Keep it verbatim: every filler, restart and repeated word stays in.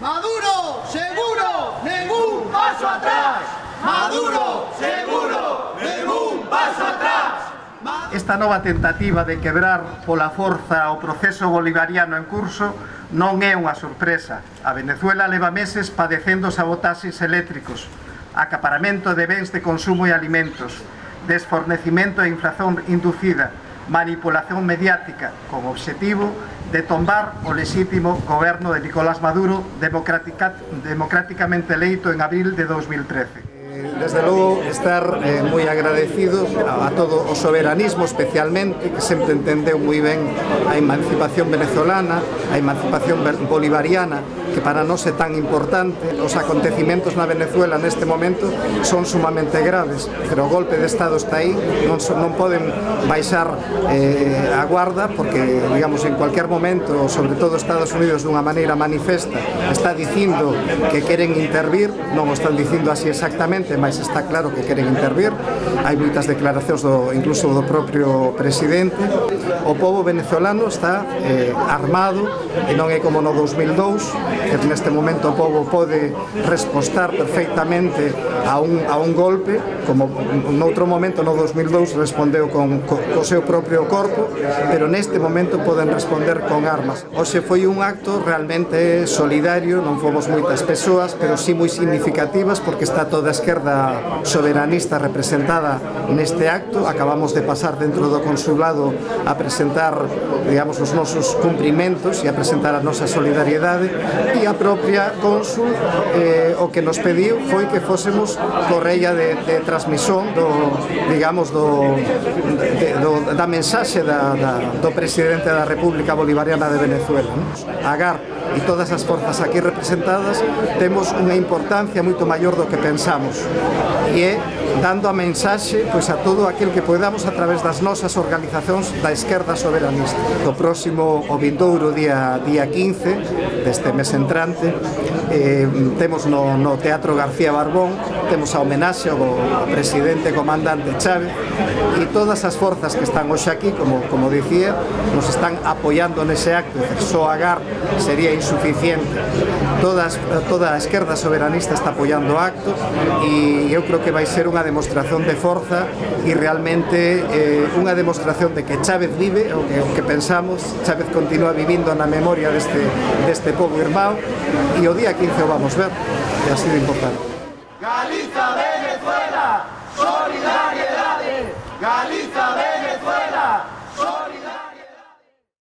Maduro, seguro, ningún paso atrás. Maduro, seguro, ningún paso atrás. Esta nova tentativa de quebrar pola forza o proceso bolivariano en curso non é unha sorpresa. A Venezuela leva meses padecendo sabotaxes eléctricos, acaparamento de bens de consumo e alimentos, desfornecimento e inflación inducida, manipulación mediática, con obxectivo de tombar o lexítimo goberno de Nicolás Maduro democrática, democráticamente eleito en abril de dos mil trece. Desde logo, estar eh, moi agradecidos a, a todo o soberanismo especialmente, que sempre entendeu moi ben a emancipación venezolana, a emancipación bolivariana, que para nós é tan importante. Os acontecimentos na Venezuela neste momento son sumamente graves, pero o golpe de Estado está aí, non, so, non poden baixar eh, a guarda, porque, digamos, en cualquier momento, sobre todo Estados Unidos dunha maneira manifesta, está dicindo que queren intervir, non o están dicindo así exactamente, mas está claro que queren intervir. Hai moitas declaracións do, incluso do propio presidente. O povo venezolano está eh, armado, e non é como no dos mil dous, que neste momento o povo pode respostar perfectamente a un, a un golpe, como noutro momento no dos mil dous respondeu con, co, co seu propio corpo, pero neste momento poden responder con armas. Hoxe foi un acto realmente solidario, non fomos moitas persoas, pero sí moi significativas, porque está toda a esquerda soberanista representada neste acto. Acabamos de pasar dentro do consulado a presentar, digamos, os nosos cumprimentos e a presentar a nosa solidariedade, e a propia cónsul eh, o que nos pediu foi que fósemos correia de, de transmisión do, digamos, do, de, do, da mensaxe da, da, do presidente da República Bolivariana de Venezuela, ¿no? A G A R e todas as forzas aquí representadas temos unha importancia moito maior do que pensamos, e é dando a mensaxe, pois, a todo aquel que podamos a través das nosas organizacións da esquerda soberanista. O próximo, o vindouro día, día quince deste mes entrante, eh, temos no, no Teatro García Barbón, temos a homenaxe ao, ao presidente comandante Chávez, e todas as forzas que están hoxe aquí, como, como dicía, nos están apoiando nese acto. Só a G A R sería insuficiente. Todas, toda a esquerda soberanista está apoiando o acto, e eu creo que vai ser unha demostración de forza e realmente eh, unha demostración de que Chávez vive, o que, o que pensamos. Chávez continúa vivindo na memoria deste, deste povo irmão, e o día quince o vamos ver, e ha sido importante. Galiza, Venezuela, solidaridad.